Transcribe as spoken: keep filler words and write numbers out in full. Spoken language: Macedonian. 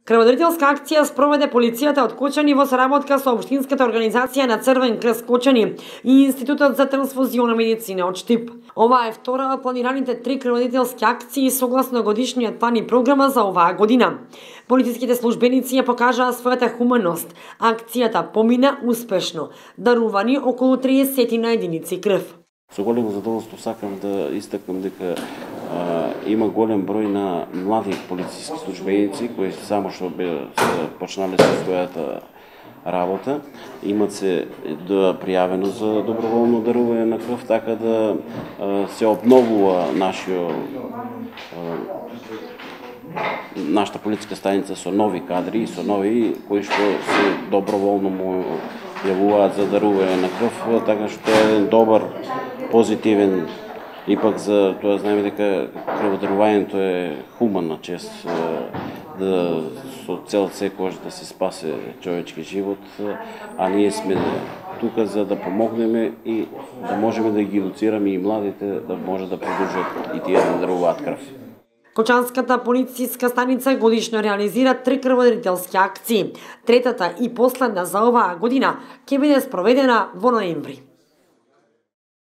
Крводарителска акција спроведе полицијата од Кочани во соработка со Општинската организација на Црвен крст Кочани и Институтот за трансфузиона медицина од Штип. Ова е втора од планираните три крводарителски акции согласно годишниот план и програма за оваа година. Полициските службеници ја покажаа својата хуманост. Акцијата помина успешно, дарувани околу триесет единици крв. Со големо задоволство сакам да истакнам дека а, има голем број на млади полициски службеници кои само што бе почнале со својата работа, имат се да пријавено за доброволно дарување на крв, така да а, се обновува нашиот нашата полициска станица со нови кадри и со нови кои што се доброволно му јавуваат за дарување на крв, така што е еден добар позитивен, ипак за тоа знаеме дека крводарувањето е хуманна чест, да со цел секојаш да се спасе човечки живот, а ние сме тука за да помогнеме и да можеме да ги едуцираме и младите да може да продолжат и тие да даруваат крв. Кочанската полициска станица годишно реализира три крводарителски акции. Третата и последна за оваа година ќе биде спроведена во ноември.